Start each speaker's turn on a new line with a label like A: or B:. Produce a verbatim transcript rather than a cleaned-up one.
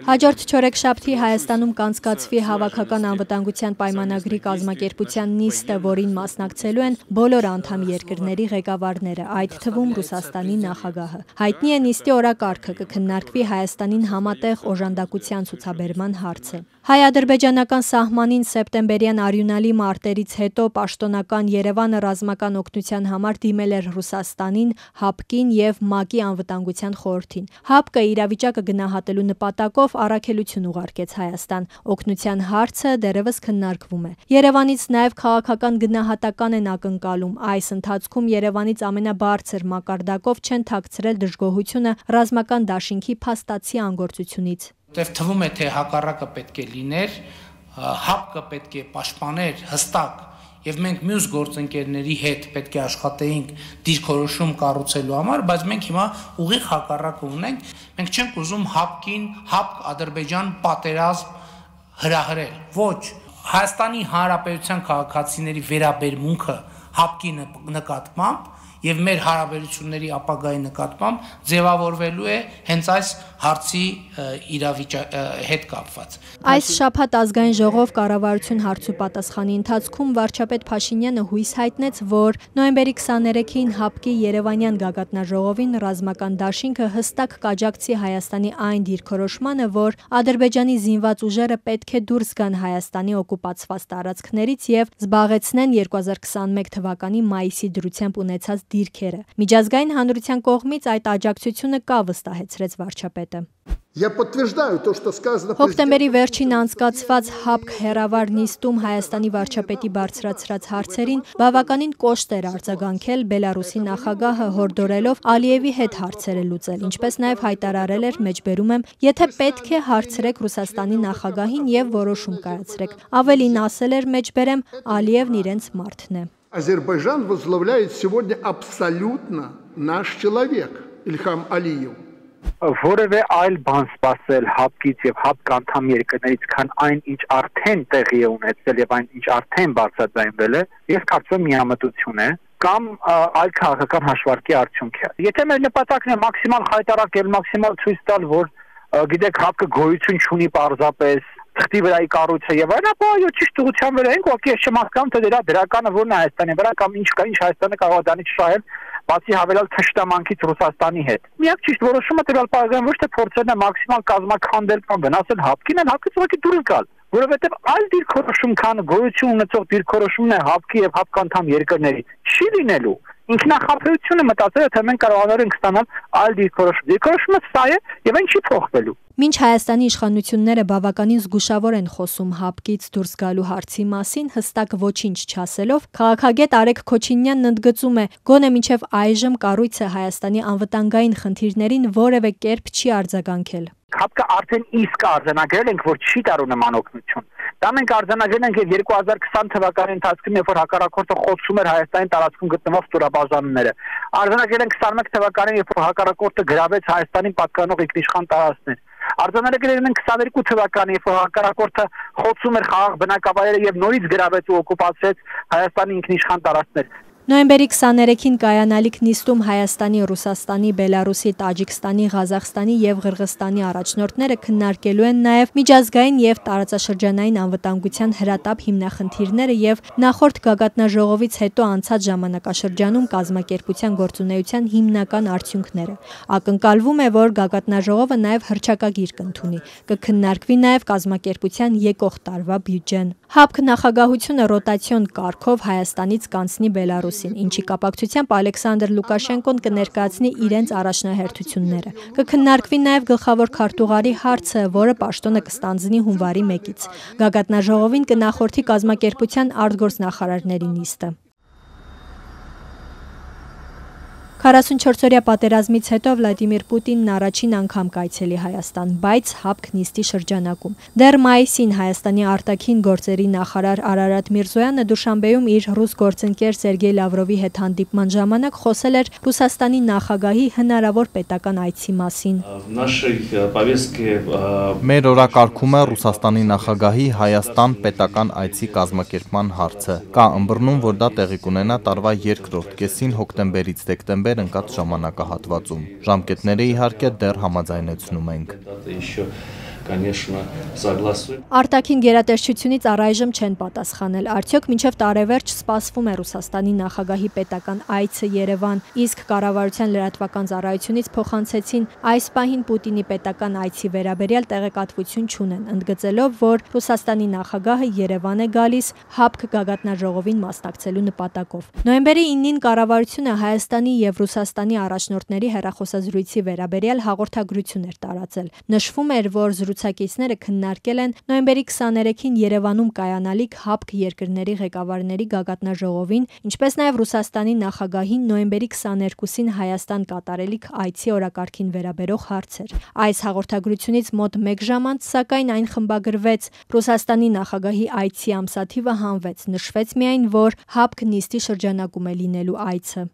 A: Հաջորդ չորեքշաբթի Հայաստանում կանցկացվի Հավաքական անվտանգության պայմանագրի կազմակերպության նիստը, որին մասնակցելու են բոլոր անդամ երկրների ղեկավարները, այդ թվում Ռուսաստանի նախագահը։ Հայտնի է նիստի օրակարգը, կքննարկվի Հայաստանին համատեղ օժանդակության ցուցաբերման հարցը։ Հայ-ադրբեջանական սահմանին սեպտեմբերյան արյունալի մարտերից հետո պաշտոնական Երևանը ռազմական օգնության համար դիմել էր Ռուսաստանին, ՀԱՊԿ-ին և ՄԱԿ-ի անվտանգության խորհրդին։ ՀԱՊԿ-ը իրավիճակը գնահատելու նպատակով առաքելություն ուղարկեց Հայաստան։ Օգնության հարցը դեռևս քննարկվում է։ Երևանից նաև քաղաքական գնահատական են ակնկալում։ Այս ընթացքում Երևանից ամենաբարձր մակարդակով չեն թաքցրել դժգոհությունը ռազմական դաշինքի փաստացի անգործությունից։
B: Թվում է, թե հակառակը պետք է լիներ, ՀԱՊԿ-ը պետք է պաշտպաներ հստակ, եւ մենք մյուս գործընկերների հետ պետք է աշխատեինք դիրքորոշում կառուցելու համար, բայց մենք հիմա ուղիղ հակառակը ունենք, մենք չենք ուզում ՀԱՊԿ-ին, ՀԱՊԿ-Ադրբեջան պատերազմ հրահրել։ Ոչ, Հայաստանի Հանրապետության քաղաքացիների վերաբերմունքը ՀԱՊԿ-ի նկատմամբ եւ մեր հարաբերությունների ապագայի նկատմամբ ձևավորվելու է հենց այս հարցի իրավիճակի հետ կապված։
A: Այս շաբաթ ազգային ժողով կառավարություն հարցուպատասխանի ընթացքում վարչապետ Փաշինյանը հույս հայտնեց, որ նոյեմբերի քսաներեքին ՀԱՊԿ-ի Երևանյան գագաթնաժողովին ռազմական դաշինքը հստակ կաջակցի Հայաստանի այն դիրքորոշմանը, որ Ադրբեջանի զինված ուժերը պետք է դուրս գան Հայաստանի օկուպացված տարածքներից եւ զբաղեցնեն երկու հազար քսաներեք թվականի մայիսի դրությամբ ունեցած դիրքերը։ Միջազգային հանրության կողմից այդ աջակցությունը կա, վստահեցրեց վարչապետը։ Հոկտեմբերի վերջին անցկացված ՀԱՊԿ հեռավար նիստում Հայաստանի վարչապետի բարձրացրած հարցերին բավականին կոշտ էր արձագանքել Բելարուսի նախագահը, հորդորելով Ալիևի հետ հարցերը լուծել, ինչպես նաև հայտարարել էր, մեջբերում եմ, եթե պետք է հարցրեք Ռուսաստանի նախագահին եւ որոշում կայացրեք։ Ավելին ասել էր, մեջբերեմ, Ալիևն իրենց մարդն է։
C: Азербайджан возглавляет сегодня абсолютно наш человек Ильхам Алиев.
D: Որևէ այլ բան սпасել ՀԱՊԿ-ից եւ ՀԱՊԿ անդամ երկրներից, քան այն, ինչ արդեն տեղի է ունեցել եւ այն, ինչ արդեն բարձրաձայնվել է, ես կարծում եմ միամտություն է կամ այլ քաղաքական հաշվարկի արդյունք է։ Եթե մեր նպատակն է մաքսիմալ խայտարակել, մաքսիմալ ցույց տալ, որ գիտեք ՀԱՊԿ-ը գոյություն չունի պարզապես թղթի վրայի կառույցը եւ այլն, ապա այո, ճիշտ ուղղության վրա ենք, ուղղակի ես չեմ հասկանում, թե դրա դրականը որն է Հայաստանի վրա կամ ինչ կա, ինչ Հայաստանը կարող է դրանից շահել, բացի հավելյալ թշնամանքից Ռուսաստանի հետ։ Միակ ճիշտ որոշումը տվյալ պարագայում ոչ թե փորձելն է մաքսիմալ կազմաքանդել կամ վնասել ՀԱՊԿ-ին, այլ ՀԱՊԿ-ից ուղղակի դուրս գալ, որովհետեւ այլ դիրքորոշում, քան գոյություն ունեցող դիրքորոշումն է ՀԱՊԿ-ի եւ ՀԱՊԿ անդամ երկրների, չի լինելու։ Ինքնախապեյությունը մտածել է, թե մենք կարողանալ ենք ստանալ այլ դիրքորոշում։ Դիրքորոշումը սա է եւ այն չի փոխվելու։
A: Մինչ Հայաստանի իշխանությունները բավականին զգուշավոր են խոսում ՀԱՊԿ-ից դուրս գալու հարցի մասին, հստակ ոչինչ չասելով, քաղաքագետ Արեգ Քոչինյանն ընդգծում է, գոնե մինչև այժմ կառույցը Հայաստանի անվտանգային խնդիրներին որևէ կերպ չի արձագանքել։
D: ՀԱՊԿ-ը արդեն իսկ արձանագրել ենք, որ չի տարու նման օգնություն։ Դա մենք արձանագրել ենք եւ երկու հազար քսան թվականի ընթացքում, երբ որ հակառակորդը խոցում էր Հայաստանի տարածքում գտնվող ստորաբաժանումները։ Արձանագրել ենք քսաներեք թվականին, երբ որ հակառակորդը գրավեց Հայաստանին պատկանող ինքնիշխան տարածքներ։ Արձանագրել ենք քսաներկու թվականին, երբ որ հակառակորդը խոցում էր խաղաղ բնակավայրերը եւ նորից գրավեց ու օկուպացրեց Հայաստանի ինքնիշխան տարածքներ։
A: Նոյեմբերի քսաներեքին կայանալիք նիստում Հայաստանի, Ռուսաստանի, Բելարուսի, Տաջիկստանի, Ղազախստանի եւ Ղրղստանի առաջնորդները քննարկելու են նաեւ միջազգային եւ տարածաշրջանային անվտանգության հրատապ հիմնախնդիրները եւ նախորդ գագաթնաժողովից հետո անցած ժամանակաշրջանում կազմակերպության գործունեության հիմնական արդյունքները։ Ակնկալվում է, որ գագաթնաժողովը նաեւ հռչակագիր կընդունի։ Կքննարկվի նաեւ կազմակերպության եկող տարվա բյուջեն։ ՀԱՊԿ նախագահությունը ռոտացիոն կարգով Հայաստանից կանցնի Բելարուս, ինչի կապակցությամբ Ալեքսանդր Լուկաշենկոն կներկայացնի իրենց առաջնահերթությունները։ Կքննարկվի նաև գլխավոր քարտուղարի հարցը, որը պաշտոնը կստանձնի հունվարի մեկից։ Գագաթնաժողովին կնախորդի կազմակերպության արտգործնախարարների նիստը։ քառասունչորսօրյա պատերազմից հետո Վլադիմիր Պուտինն առաջին անգամ կայցելի Հայաստան, բայց ՀԱՊԿ նիստի շրջանակում։ Դեռ մայիսին Հայաստանի արտաքին գործերի նախարար Արարատ Միրզոյանը Դուշանբեում իր ռուս գործընկեր Սերգեյ Լավրովի հետ հանդիպման ժամանակ խոսել էր Ռուսաստանի նախագահի հնարավոր պետական այցի մասին։
E: Մեր օրակարգում է Ռուսաստանի նախագահի Հայաստան պետական այցի կազմակերպման հարցը։ Կա ըմբռնում, որ դա տեղի կունենա տարվա երկրորդ կեսին հոկտեմբերից դեկտեմբեր տեղ ընկած ժամանակահատվածում։ Ժամկետները իհարկե դեռ համաձայնեցնում ենք։
A: Արտաքին գերատեսչությունից առայժմ չեն պատասխանել, արդյոք մինչև տարեվերջ սպասվում է Ռուսաստանի նախագահի պետական այցը Երևան, իսկ կառավարության լրատվական ծառայությունից փոխանցեցին այս պահին Պուտինի պետական այցի վերաբերյալ տեղեկատվություն չունեն, ընդգծելով, որ Ռուսաստանի նախագահը Երևան է գալիս ՀԱՊԿ գագաթնաժողովին մասնակցելու նպատակով։ Նոյեմբերի իննին կառավարությունը Հայաստանի եւ Ռուսաստանի առաջնորդների հեռախոսազրույցի վերաբերյալ հաղորդագրություն էր տարածել։ Նշվում էր, որ զրուցակիցները քննարկել են նոյեմբերի քսաներեքին Երևանում կայանալիք ՀԱՊԿ երկրների ղեկավարների գագաթնաժողովին, ինչպես նաև Ռուսաստանի նախագահին նոյեմբերի քսաներկուսին Հայաստան կատարելիք այցի օրակարգին վերաբերող հարցեր։ Այս հաղորդագրությունից մոտ մեկ ժամ անց, սակայն այն խմբագրվեց, Ռուսաստանի նախագահի այցի ամսաթիվը հանվեց, նշվեց միայն, որ ՀԱՊԿ նիստի շրջանակում է լինելու այցը։